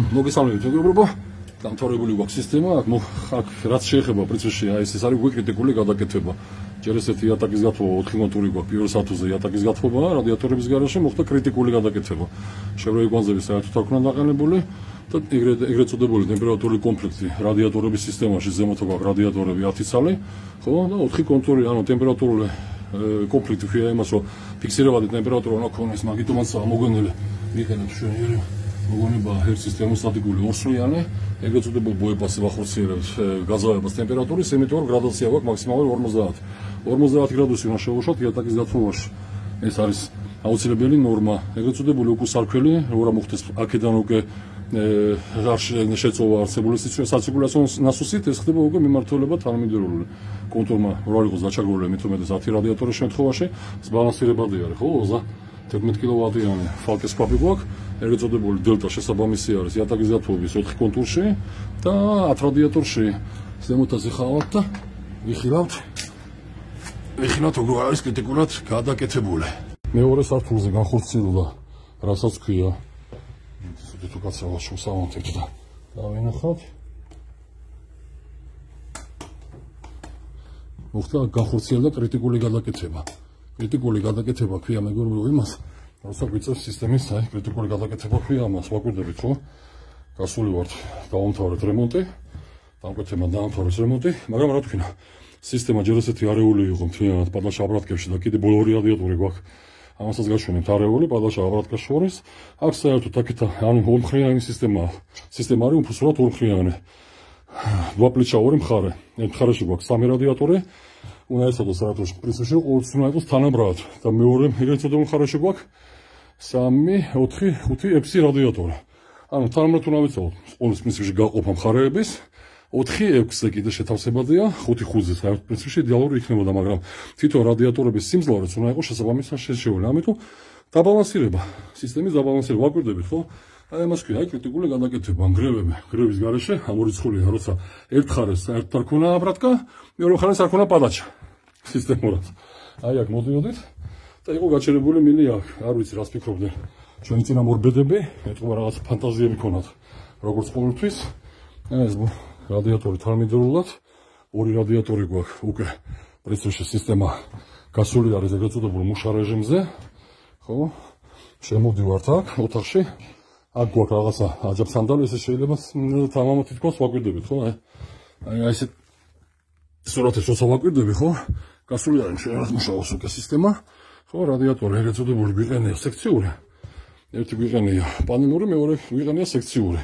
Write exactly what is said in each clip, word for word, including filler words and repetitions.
მოგესალმებით მეგობრებო, დამთავრებული გვაქვს სისტემა, აქ რაც შეეხება პრინციპში აი ეს არის კრიტიკული გადაკეთება. ჯერ ესეთი იატაკის გათხოვა ოთხი კონტური გვაქვს პირველ სართულზე იატაკის გათხოვა, რადიატორების გარშემო მოხდა კრიტიკული გადაკეთება. შევრეი კვანძები საერთოდ არ ქნა დაყენებული და ეგრეთ ეგრეთ წოდებული ტემპერატურული კონფლიქტი რადიატორების სისტემაში ზემოთ გვაქვს რადიატორები ათი ცალი, ხო და ოთხი კონტური, ანუ ტემპერატურული კონფლიქტი ხია იმას, რომ ფიქსირებადი ტემპერატურა უნდა ქონდეს, მაგიტომაც მოგონილი ვიყენებთ ჩვენი მოგონება ერთ სისტემოსტატიკური ორსვლიანი, ეგრეთ წოდებულ ბოებასზე ვახორციელებთ გაძავებას ტემპერატურის, იმიტომ რომ გრადაცია გვაქვს მაქსიმალური ორმოცდაათი. ორმოცდაათი გრადუსი უნდა შევუშვათ იატაკის გათხოვაში. ეს არის აუცილებელი ნორმა. ეგრეთ წოდებული უკვე სარქველი, რა მოხდეს აქედან უკვე შეწოვა არსებული საცირკულაციო ნასოსით, ეს ხდება უკვე მიმართულება თანამედროვე კონტურმა რა იყოს დაჩაგრული, მით უმეტეს ათი რადიატორის შემთხვევაში, ბალანსირებადი არის, ხო, თერთმეტ კილოვატიანი ფალკეს ქვაბი გვაქვს, ეგრეთ წოდებული დელტა შესაბამისი არის იატაკის გათხოვების ოთხი კონტურში და ათ რადიატორში ზემოთაზე ხავთ და ვიხილავთ. ვიხილავთ როგორ არის კრიტიკულად გადაკეთებული. მეორე სართულზე განხორციელდა, რასაც ქვია თუ კაცავა შევსავანთებთ და დავინახავთ. მოხდა განხორციელდა კრიტიკული გადაკეთება. კრიტიკული გადაკეთება ქვია მეგობრებო იმას, როცა გვიწევს სისტემის აი კრიტიკული გადაკეთება ქვია ამას, ვაკვირდებით ხო? გასული ვართ, დავამთავრეთ რემონტი, დამკვეთება დაამთავრეს რემონტი, მაგრამ რა თქვინა, სისტემა ჯერ ესეთი არეული იყო მთლიანად პადაშა აბრატკებში და კიდე ბოლო ორი რადიატორი გვაქვს. ამასაც გაშვენებთ არეული პადაშა აბრატკას შორის. აქ საერთოდ აქეთ ანუ ორმხრივიანი სისტემაა. სისტემა არის უფასურად ორმხრივიანი. დვაპლიჩა ორი მხარე. ერთ მხარეში გვაქვს სამი რადიატორი. უნდა ეცადოს საერთოდ პრინციპში ყოველთვის უნდა იყოს თანაბრად და მეორე ეგრეთ წოდებულ მხარეში გვაქვს სამი, ოთხი, ხუთი, ექვსი რადიატორი. ანუ თანაბრად უნდა ვიცავოთ ყოველთვის პრინციპში გაყოფა მხარეების. ოთხი, ექვსზე კიდე შეთავსებადია, ხუთი, ხუთზე საერთოდ პრინციპში იდეალური იქნებოდა, მაგრამ თვითონ რადიატორების სიმძლავრეც უნდა იყოს შესაბამისად შერჩეული. ამიტომ დაბალანსირება, სისტემის დაბალანსირება ვაკვირდებით, ხო? აი ამას ქვია, აი კრიტიკული გადაკეთება, ნგრევები, ნგრევის გარეშე ამორიცხულია, როცა ერთ მხარეს საერთოდ არ ქონა აბრატკა, მეორე მხარეს არ ქონა პადაჩა სისტემურად. აი აქ მოდიოდით და იყო გაჩერებული მილი აქ, არ ვიცი რას ფიქრობდნენ ჩვენი წინამორბედები, ეთქობა რაღაც ფანტაზიები ქონათ, როგორც ყოველთვის. ეს რადიატორი თანამედროვეულად, ორი რადიატორი გვაქვს უკვე პრინციპში სისტემა გასული არის ეგრეთ წოდებულ მუშა რეჟიმზე, ხო? შემოვდივართ აქ ოთახში. აქ გვაქვს რაღაცა აჯაბსანდალი, ესე შეიძლება თამამად თითქოს ვაკვირდებით, ხო? აი აი ესე სურათებს როცა ვაკვირდები, ხო? გასული არის შეიძლება მუშაობს უკვე სისტემა, ხო? რადიატორი ეგრეთ წოდებული გვიყენია სექციური. ერთი გვიყენია პანელური, მეორე გვიყენია სექციური.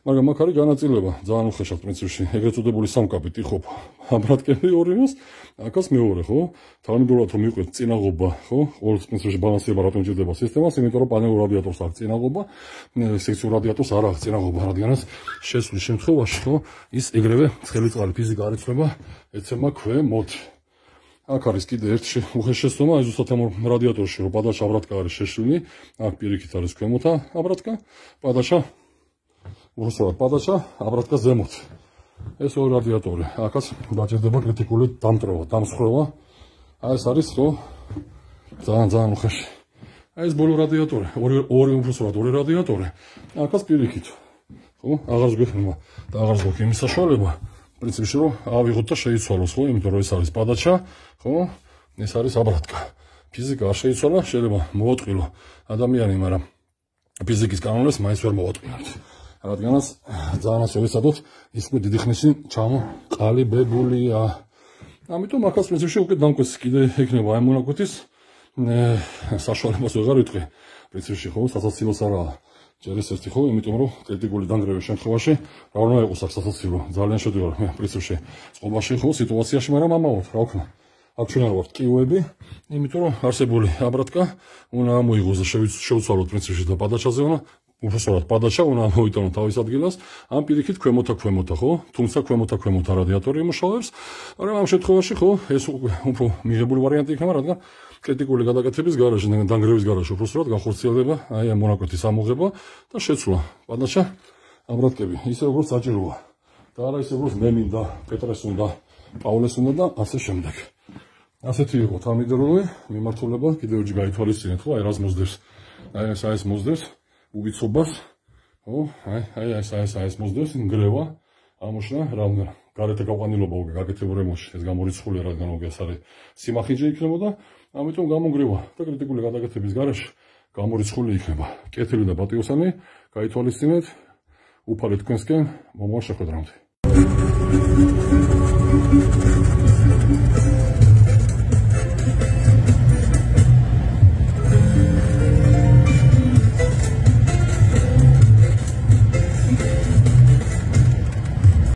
მაგრამ აქ არის განაწილება, ძალიან უხეშად პრინციპში. ეგრეთ წოდებული სამკაპით იყოფა აბრატკები ორივეს, აქაც მეორე, ხო? თანამედროვეულად რომ მიყვეთ წინაღობა, ხო? ყოველთვის პრინციპში ბალანსირება რატომ ჭირდება სისტემას, იმიტომ რომ პანელურ რადიატორს აქვს წინაღობა, სექციურ რადიატორს არ აქვს წინაღობა, რადგანაც შესვლის შემთხვევაში, ხო? ის ეგრევე ცხელი წყალი ფიზიკა არ იცვლება, ეცემა ქვემოთ. აქ არის კიდე ერთი უხეშ შეცდომა, აი ზუსტად ამ რადიატორში რომ პადაშა აბრატკა არის შეშლილი, აქ პირიქით არის ქვემოთა აბრატკა, პადაშა უბრალოდ პადაშა აბრატკა ზემოთ. ეს ორი რადიატორი, აქაც დაჭირდება კრიტიკული დამტრევა, დამსხვრევა. აი ეს არის ხო ძალიან ძალიან უხეში. აი ეს ბოლო რადიატორი, ორი ორი უბრალოდ ორი რადიატორი. აქაც პირიქით. ხო, აღარ გვექნება და აღარ გვაქვს იმის საშუალება. პრინციპში რომ ავიღოთ და შეიცვალოს, ხო, იმიტომ რომ ეს არის პადაჩა, ხო? ეს არის აბრატკა. ფიზიკა არ შეიცვალა, შეიძლება მოვატყილო ადამიანი, მაგრამ ფიზიკის კანონებს მაინც ვერ მოვატყილოთ. რადგანაც ძალიან ასე ვეცადოთ, ის უკვე დიდი ხნის წინ ჩამოყალიბებულია. ამიტომ აქაც პრინციპში უკვე დამკვეთს კიდე ექნება აი მონაკვეთის საშუალებას ვეღარ ვიტყვი. პრინციპში ხო, სასაცილოს არაა. ჯერ ეს ერთი ხო, იმიტომ რომ კრიტიკული დანგრევის შემთხვევაში რა უნდა იყოს აქ სასაცილო, ძალიან შედივარ მე პრინციპში წყობაში ხო სიტუაციაში, მაგრამ ამაოდ რა ვქნა. აქ ჩვენ არ ვართ კიუები, იმიტომ რომ არსებული აბრატკა უნდა ამოიღოს და შევცვალოთ პრინციპში და პადაჩაზე უნდა უბრალოდ პადაჩა უნდა ამოიტანოთ თავის ადგილას, ამ პირიქით ქვემოთა ქვემოთა ხო, თუმცა ქვემოთა ქვემოთა რადიატორი იმუშავებს, მაგრამ ამ შემთხვევაში ხო, ეს უფრო მიღებული ვარიანტი იქნება, რადგან კრიტიკული გადაკეთების გარშე, დანგრევის გარშე უბრალოდ განხორციელდება აი ამ მონაკვეთის ამოღება და შეცვლა. პადაჩა აბრატკები ისე როგორც საჭიროა. და არა ისე როგორც მე მინდა, პეტრეს უნდა, პავლეს უნდა და ასე შემდეგ. ასეთი იყო თანამედროვე მიმართულება, კიდევ ერთი გაითვალისწინეთ, ხო, აი რას მოსდევს. აი ეს ეს მოსდევს უვიცობას, ო, აი, აი, ეს ეს ეს მოსდევს ნგრევა, ამოშლა, რამე გარეთ გაყვანილობა უკვე გაკეთებულ ემოში, ეს გამორიცხულია, რადგან უკვე ეს არის სიმახინჯე იქნებოდა, ამიტომ გამონგრევა და კრიტიკული გადაკეთების გარეშე გამორიცხული იქნება. კეთილი და პატიოსანი, გაითვალისწინეთ, უფალეთ თქვენსკენ მომავალ შეხვედრამდე.